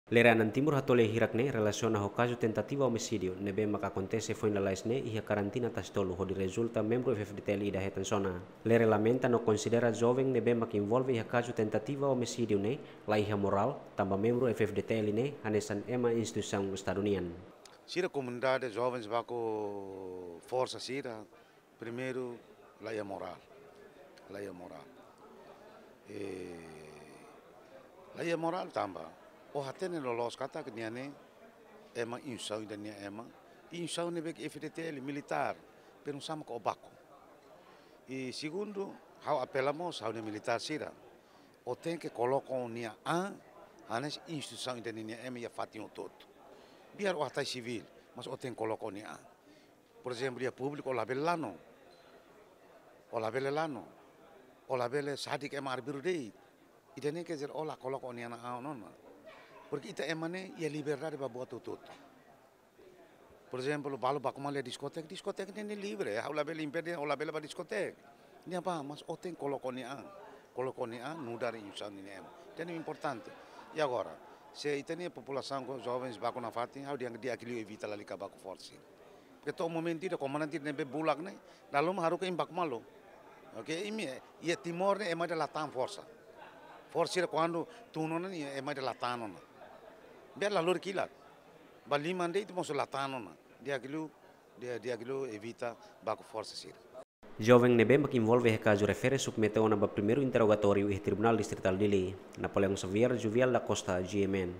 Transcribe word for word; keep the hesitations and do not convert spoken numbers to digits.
Lere Anan Timur hato'o lee hirak ne'e relasiona ho kazu tentativa omisídiu ne'ebé maka akontese foin lalais ne'e iha karantina Tasitolu hodi rezulta membru F-FDTL ida hetan sona. Lere lamenta no konsidera joven ne'ebé maka envolve iha kazu tentativa omisídiu ne'e la iha morál, tanba membru F-FDTL ne'e hanesan ema instituisaun Estadu nian. Sira komunidade jovens baku forsa sira, primeiru, la iha morál. La iha morál. E, la iha morál tanba ó hatene loloos katak nia ne'e ema instituisaun ida nia ema. Instituisaun ne'ebé ke F-FDTL militár, pero sama ko baku. I segundu, ha'u apela mós ha'u-nia militár sira. Ó tenke koloka ó-nia an hanesan instituisaun ida nia ema iha fatin hotu-hotu. Biar ó hatais sivíl, mas ó tenke koloka ó-nia an. Por ezemplu, iha públiku ó labele lanu. Ó labele lanu. Ó labele sadik ema arbiru de'it. Ida-ne'e quer dizer ó la koloka ó-nia an ona. Porque ita ema ne'e iha liberdade ba buat hotu-hotu. Por ezemplu, balu baku malu iha diskoteka, diskoteka ne'e livre, ha'u labele impede ó labele bá diskoteka. Ne'ebá, mas ó tenke koloka ó-nia an. Koloka ó-nia an nu'udar instituisaun nia ema. Ida-ne'e importante. I agora, se ita-nia populasaun ho jovens baku nafatin, ha'u dehan di'ak liu evita lalika baku forsa. Porque to'o momentu ida komandante ne'ebé bulak ne'e, dala ruma haruka imi baku malu. Oke, imi, iha Timor ne'e ema ida la tan forsa. Forsa sira kuandu tun ona ne'e ema ida la tan ona. Biar la lori kilat. Ba liman de'it mós la tan ona. Di'ak liu, di'ak, di'ak liu evita baku forsa sira. Joven ne'ebé mak envolve iha kazu refere submete ona ba primeiru interrogatóriu iha Tribunál Distritál Dili. Napoleão Xavier, Juvial da Costa, G M N.